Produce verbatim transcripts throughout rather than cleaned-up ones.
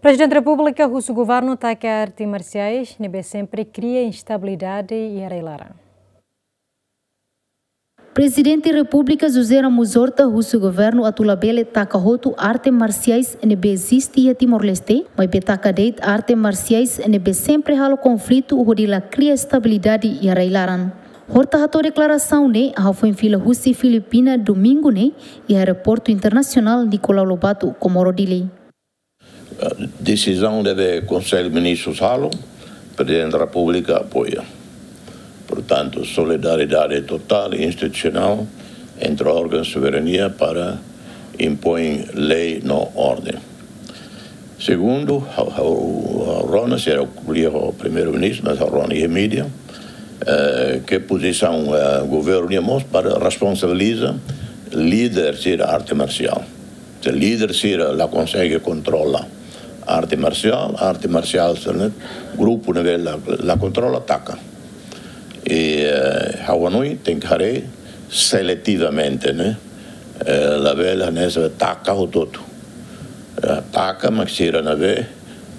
Prezidente Repúblika husu governu taka arte marsiais ne'ebé sempre kria instabilidade iha rai-laran. Prezidente Repúblika José Ramos Horta husu governu atu labele taka hotu arte marsiais ne'ebé eziste iha Timor-Leste, maibé taka de'it arte marsiais ne'ebé sempre halo konflitu hodi la kria estabilidade iha rai-laran. Horta hato'o deklarasaun ne'e hafoin fila husi Filipina domingu ne'e iha aeroportu internasionál Nicolau Lobato, Comoro, Dili. Desizaun ne'ebé Konsellu Ministrus halo, Prezidente Repúblika apoia. Portantu, solidariedade totál i institusionál entre órgaun soberania para impoin lei no orden. Segundu, ha'u, ha'u, ha'u rona, sira ko'alia ho Primeiru-Ministru, mas ha'u rona iha mídia, eh, ke pozisaun, eh, governu nian mós para responsabiliza líder sira arte marsiál. Se líder sira la konsege kontrola arte marsiál, arte marsiál sira ne'e, grupu ne'ebé la, la kontrola taka. I, eh, ha'u hanoin tenke haree seletivamente, ne'e? Eh, labele hanesan taka hotu-hotu. Eh, taka mak sira ne'ebé,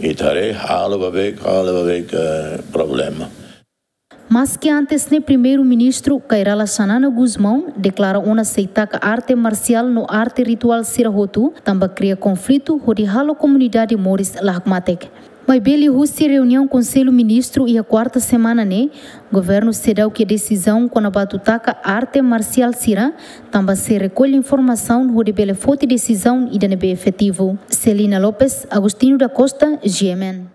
i haree halo ba beik, halo ba beik, eh, problema. Maski antes ne'e Primeiru-Ministru Kay Rala Xanana Gusmão deklara ona sei taka arte marsiál no arte rituál sira hotu, tanba kria konflitu hodi halo komunidade moris la hakmatek. Maibé liuhusi reuniaun Konsellu Ministru iha kuarta semana ne'e, governu seidauk iha desizaun kona-ba atu taka arte marsiál sira, tanba sei rekolle informasaun hodi bele foti desizaun ida ne'ebé efetivu. Celina Lopes, Agostinho da Costa, G M N.